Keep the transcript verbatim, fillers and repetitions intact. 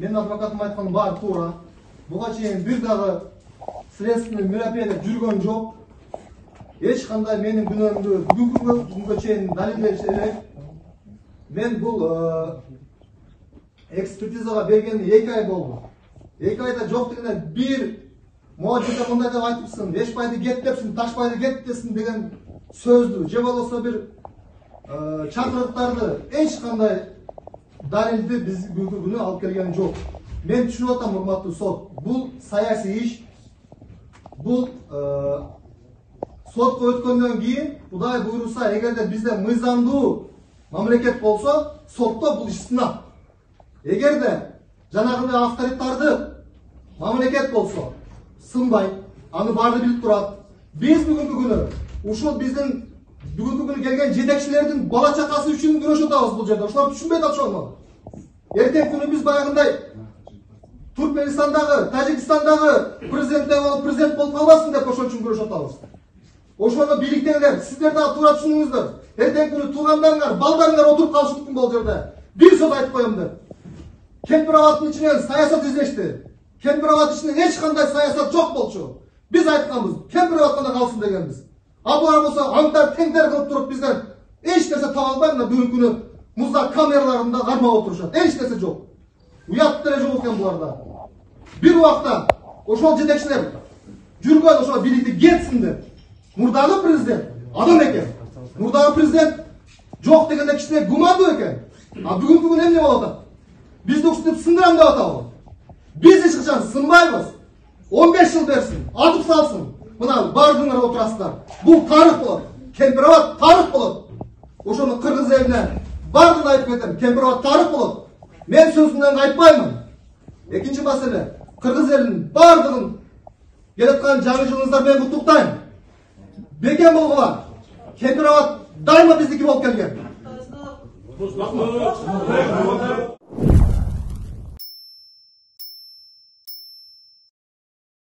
Менин адвокатым айткан баары туура. Буга чейин бир дагы следственный мероприятие жүргөн жок. Эч кандай менин күнөөмдү бүгүнкү күнгө чейин далилдеш элек. Мен бул экспертизага бергени эки ай болду. эки айда жок дегенде бир могу жерде мындай деп айтыпсың, эшпайды кет депсиң, ташпайды кет десиң деген сөздү, же болбосо бир чакырыктарды эч кандай далилди биз бүгүнкү күнү алып келген жок. Мен түшүнүп атам, урматтуу сот, бул саясий иш. Бул сотко өткөндөн кийин Кудай буйруса, эгерде бизде мыйзамдуу мамлекет болсо, сотто бул иш сынат. Эгерде жанагындай авторитарды мамлекет болсо, сынбай, аны баары билип турат. Биз бүгүнкү күнү ушул биздин бүгүнкү күнү келген жетекчилердин бала чакасы үчүн күрөшүп атабыз бул жерде. Ошолор түшүнбөйт атышат. Эртең күнү биз баягындай Туркменистандагы, Тажикстандагы президенттер болуп, президент болуп калбасын деп ошол үчүн күрөшүп атабыз. Ошону бийликтегилер, сиздер дагы туура түшүнүңүздөр. Эртең күнү туугандарыңар, балдарыңар отуруп калышы мүмкүн бул жерде. Бир сөз айтып коем деп. Кемпир-абадтын ичинен саясат излешти. Кемпир-абад ичинен эч кандай саясат жок болчу. Биз айтканбыз, кемпир-абад гана калсын дегенбиз. А булар болсо аңтар теңдер кылып туруп бизден эч нерсе таба албай мына бүгүнкү күнү музда камераларында кармап отурушат. Эч нерсе жок. Уят деле жок экен буларда. Бир убакта ошол жетекчилер жүргөн ошол бийликти кетсин деп. Мурдагы президент адам экен. Мурдагы президент жок дегенде кичине гумандуу экен. А бүгүнкү күнү эмне болуп атат? Бизди ушинтип сындырам деп атабы? Биз эч качан сынбайбыз. он беш жыл берсин, атып салсын. Мына бардыңар отурасыздар. Бул тарых болот. Кемпир-абад тарых болот. Ошону кыргыз элине бардыгын айтып кетем. Кемпир-абад тарых болот. Мен сөзүмдөн кайтпаймын. Экинчи маселе, кыргыз элинин бардыгын келаткан жаңы жылыңыздар менен куттуктайм. Бекем болгула. Кемпир-абад дайыма биздики болуп келген.